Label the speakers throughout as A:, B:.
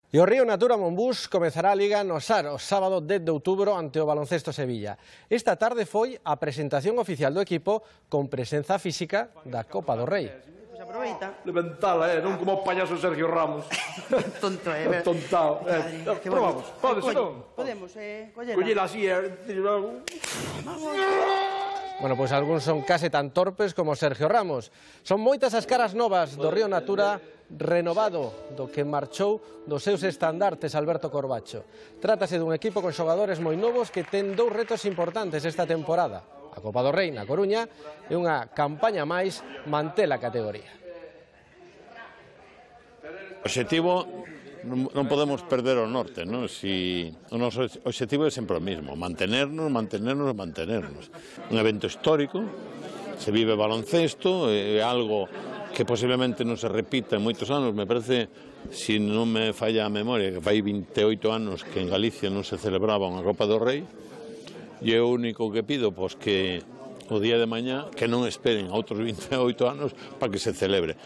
A: E o Río Natura Monbús comezará a Liga no Sar o sábado 10 de outubro ante o Baloncesto Sevilla. Esta tarde foi a presentación oficial do equipo con presenza física da Copa do Rei.
B: Aproveita.
C: Levantala, non como o payaso Sergio Ramos.
B: Tonto,
C: Tontao. Probamos, podes, non?
B: Podemos, collela.
C: Collela así,
A: Bueno, pois algúns son case tan torpes como Sergio Ramos. Son moitas as caras novas do Río Natura renovado do que marchou dos seus estandartes Alberto Corbacho. Trátase dun equipo con xogadores moi novos que ten dous retos importantes esta temporada. A Copa do Rei na Coruña e unha campaña máis manter a categoría.
D: O obxectivo non podemos perder o norte, non? Si o noso obxectivo é sempre o mismo, mantenernos. Un evento histórico, se vive baloncesto, é algo que posiblemente non se repita en moitos anos. Me parece, se non me falla a memoria, que fai 28 anos que en Galicia non se celebraba unha Copa do Rei, e o único que pido, pois que o día de mañá, que non esperen a outros 28 anos para que se celebre.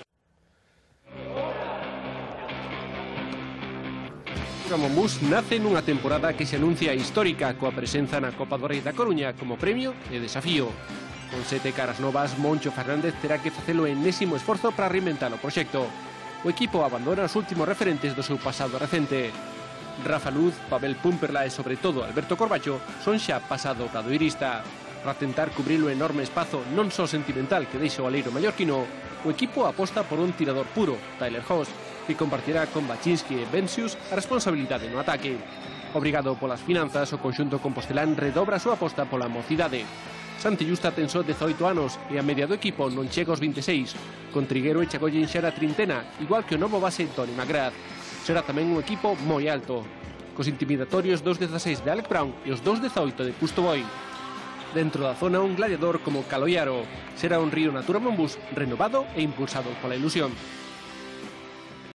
E: O Monbús nace nunha temporada que se anuncia histórica coa presenza na Copa do Rei da Coruña como premio e desafío. Con 7 caras novas, Moncho Fernández terá que facelo enésimo esforzo para reinventar o proxecto. O equipo abandona os últimos referentes do seu pasado recente. Rafa Luz, Pavel Pumperla e sobre todo Alberto Corbacho son xa pasado obradoirista. Para tentar cubrir o enorme espazo non só sentimental que deixa o aleiro mallorquino, o equipo aposta por un tirador puro, Tyler Hoss, que compartirá con Baczynski e Bencius a responsabilidade no ataque. Obrigado polas finanzas, o conxunto compostelán redobra a súa aposta pola mocidade. Santi Justa ten só 18 anos e a media do equipo non chega aos 26, con Triguero e Chagollen xa na trintena, igual que o novo base Tony McGrath. Será tamén un equipo moi alto, cos intimidatorios 2'16 de Alec Brown e os 2'18 de Custo Boy. Dentro da zona un gladiador como Caloiaro. Será un Río Natura Monbús renovado e impulsado pola ilusión.